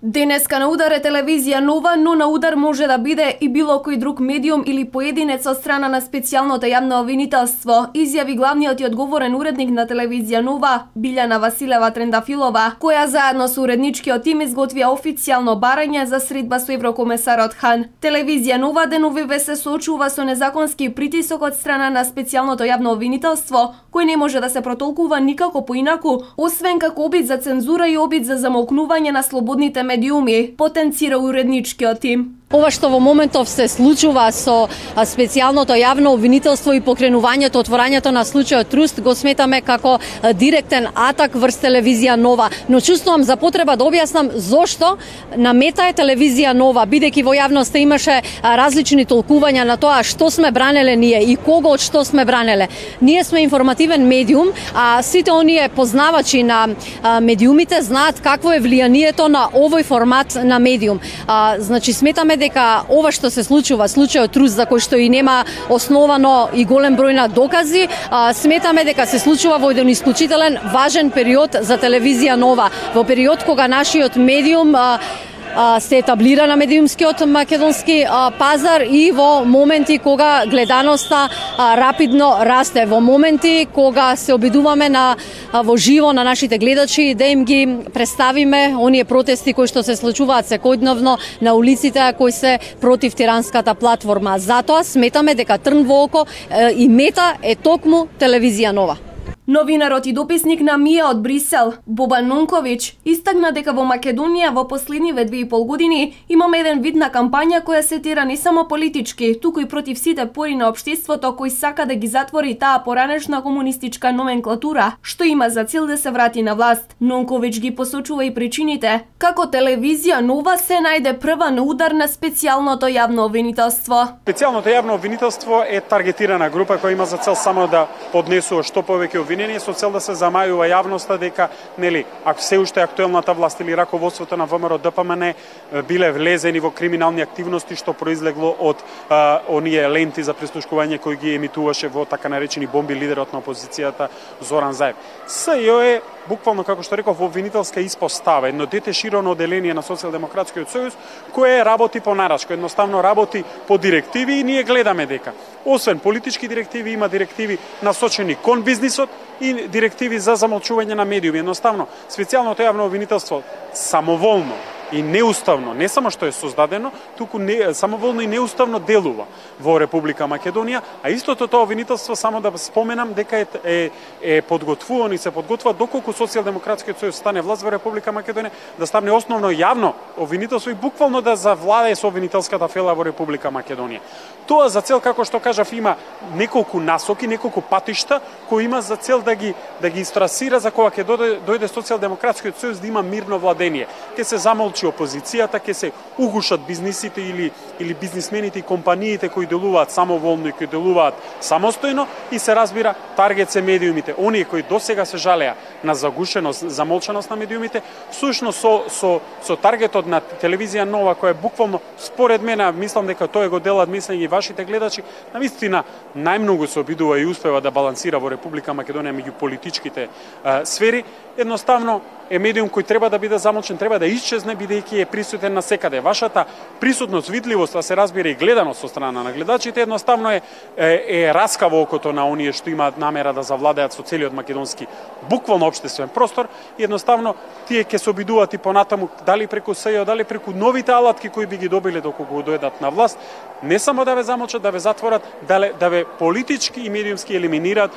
Денеска на удар е телевизија Нова, но на удар може да биде и било кој друг медиум или поединец од страна на специјалното јавно обвинителство, изјави главниот и одговорен уредник на телевизија Нова, Билјана Василева Трендафилова, која заедно со уредничкиот тим изготвија официјално барање за средба со еврокомесарот Хан. Телевизија Нова деновиве се соочува со незаконски притисок од страна на специјалното јавно обвинителство, кој не може да се протолкува никако поинаку, освен како обид за цензура и обид за замолкнување на слободните медиуми, потенцира уредничкиот тим. Ова што во моментов се случува со специјалното јавно обвинителство и покренувањето, отворањето на случајот Труст го сметаме како директен атак врз телевизија Нова, но чувствувам за потреба да објаснам зошто на мета е телевизија Нова, бидејќи во јавноста имаше различни толкувања на тоа што сме бранеле ние и кого од што сме бранеле. Ние сме информативен медиум, а сите оние познавачи на медиумите знаат какво е влијанието на овој формат на медиум. Значи сметаме дека ова што се случува, случајот Труст, за кој што и нема основано и голем број на докази, сметаме дека се случува во еден исклучителен важен период за телевизија Нова, во период кога нашиот медиум се етаблира на медиумскиот македонски пазар и во моменти кога гледаноста рапидно расте, во моменти кога се обидуваме во живо на нашите гледачи да им ги представиме оние протести кои што се случуваат секојдневно на улиците, кои се против тиранската платформа. Затоа сметаме дека трн во око и мета е токму телевизија Нова. Новинарот и дописник на МИА од Брисел, Бобан Нунковиќ, истакна дека во Македонија во последниве 2,5 години имаме еден вид на кампања која се тера не само политички, туку и против сите пори на општеството кој сака да ги затвори таа поранешна комунистичка номенклатура, што има за цел да се врати на власт. Нунковиќ ги посочува и причините, како телевизија Нова се најде прва на удар на специјалното јавно обвинителство. Специјалното јавно обвинителство е таргетирана група која има за цел само да поднесува што повеќе обвиненија со цел да се замајува јавноста дека ако се уште актуелната власт или раководството на ВМРО ДПМН биле влезени во криминални активности што произлегло од оние ленти за прислушкување кои ги емитуваше во така наречени бомби лидерот на опозицијата Зоран Заев. СЈО е буквално, како што реков, обвинителска испостава, едно дете широно оделение на Социјалдемократскиот сојуз, кое работи по нарачко, едноставно работи по директиви и ние гледаме дека, освен политички директиви, има директиви насочени кон бизнисот и директиви за замолчување на медиуми. Едноставно, специјалното јавно обвинителство самоволно и неуставно, не само што е создадено, туку самоволно и неуставно делува во Република Македонија, а истото тоа обвинителство, само да споменам, дека е подготвувано и се подготвува доколку Социјалдемократскиот сојуз стане власт во Република Македонија, да стане основно јавно обвинителство и буквално да завладее со обвинителската фела во Република Македонија. Тоа за цел, како што кажав, има неколку насоки, неколку патишта кои има за цел да ги истрасира за кога ќе дојде Социјалдемократскиот сојуз да има мирно владение. Ќе се замолчи опозицијата, ќе се угушат бизнисите или бизнисмените и компаниите кои делуваат самоволно и кои делуваат самостојно и се разбира таргет се медиумите. Оние кои досега се жалеа на загушеност, замолчаност на медиумите, всушност со таргетот на телевизија Нова, која буквално според мене, мислам дека тоа го делат мислење и вашите гледачи, навистина најмногу се обидува и успева да балансира во Република Македонија меѓу политичките сфери, едноставно е медиум кој треба да биде замолчен, треба да исчезне бидејќи е присутен насекаде. Вашата присутност, видливост, а се разбира и гледаност со страна на гледачите, едноставно е раска во окото на оние што имаат намера да завладеат со целиот македонски буквално општествен простор и едноставно тие ќе се обидуваат и понатаму дали преку СЈО, дали преку новите алатки кои би ги добиле доколку дојдат на власт, не само да ве замолчат, да ве затворат, да ве политички и медиумски елиминираат.